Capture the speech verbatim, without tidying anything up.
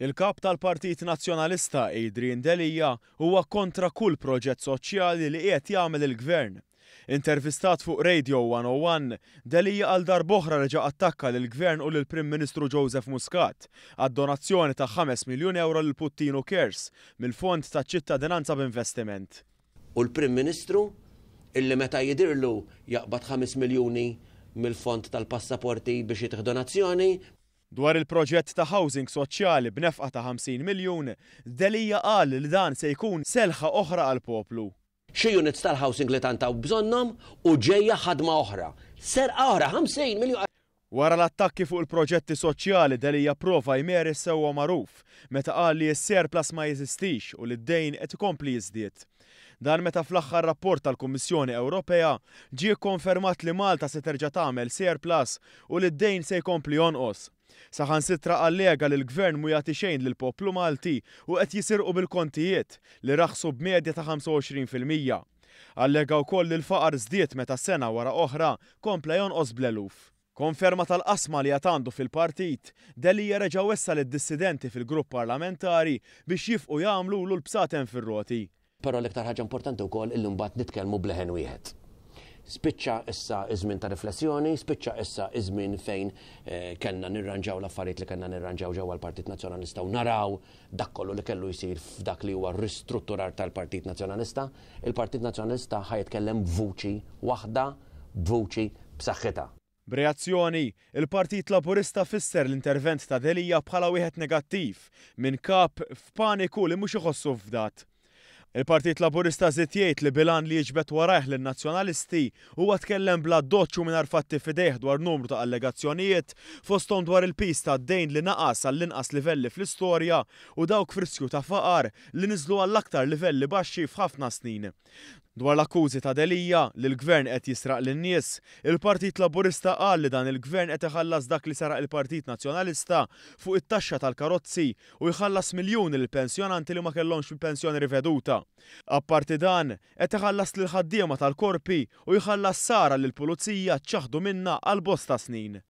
Il-Kap tal-Partit Nazzjonalista Adrian Delia huwa kontra kull proġett soċjali li qiegħed jagħmel il-Gvern. Intervistat fuq Radio one oh one, Delia għal darb'oħra reġa' attakka lill-Gvern u lill-Prim Ministru Joseph Muscat għad-donazzjoni ta' ħames miljun euro lil Puttinu Cares mill-Fond ta' Ċittadinanza b'Investiment. U l-Prim Ministru illi meta jidirlu jaqbad ħames miljuni mill-fond tal-passaporti biex jitih donazzjoni. Dwar il-proġett ta' housing soċjali b'nefqa ta' ħamsin miljun, Delia qal li dan se jkun selħa oħra għall-poplu. Xi units tal-housing li tant hawn bżonnhom u ġejja ħadma oħra. Serqa oħra, ħamsin miljun. Wara l-attakki fuq il-proġetti soċjali, Delia prova jmeri sewwa magħruf meta qal li s-surplus ma jeżistix u li d-dejn qed ikompli jiżdied. Dan meta fl-aħħar rapport tal-Kummissjoni Ewropea ġie konfermat li Malta se terġa' tagħmel surplus u li d-dejn se jkompli jonqos. Saħansitra allega li l-gvern mu jagħti xejn lill-poplu Malti u qed jisirqu bil-kontijiet li raħsu b'medja ta' ħamsa u għoxrin fil-mija. Allega wkoll li l-faqar żdied meta sena wara oħra kompla jonqos bl-eluf. Konferma tal-qasma li għandu fil-partit, Delia reġa' wessa lid-dissidenti fil-grupp parlamentari biex jieqfu jagħmlu l-bsaten fir-roti. Però l-iktar ħaġa importanti wkoll illi mbagħad nitkellmu bleħen wieħed. Spiċċa issa iż-żmien ta' riflessjoni, spiċċa issa iż-żmien fejn eh, kellna nirranġaw l-affarijiet li kellna nirranġaw ġewwa l-Partit Nazzjonalista u naraw dak kollu li kellu jsir f'dak li huwa ristrutturar tal-Partit Nazzjonalista. Il-Partit Nazzjonalista ħa jitkellem b'vuċi waħda, b'vuċi b'saħħitha. B'reazzjoni, il-Partit Laburista fisser l-intervent ta' Delia bħala wieħed negattiv minn kap f'paniku li mhux iħossu fdat. Il-Partit Laburista żied jgħid li bil-għan li jiġbed warajh lin-nazzjonalisti huwa tkellem bl-addoċċ u mingħajr fatti f'idejh dwar numru ta' allegazzjonijiet, fosthom dwar il-piż tad-dejn li naqas għall-inqas livelli fl-istorja u dawk f'riskju ta' faqar li niżlu għall-aktar livelli baxxi f'ħafna snin. Dwar l-akkużi ta' Delia li l-gvern qed jisraq lin-nies, il-Partit Laburista qal li dan il-gvern qed iħallas dak li saraq il-Partit Nazzjonalista fuq it-taxxa tal-karozzi u jħallas miljuni lill-pensjonanti li ma kellhomx il-pensjoni riveduta. Apparti dan, qed iħallas lil ħaddiema tal-korpi u jħallas sara lill-pulizija ċaħdu minna għal bosta snin.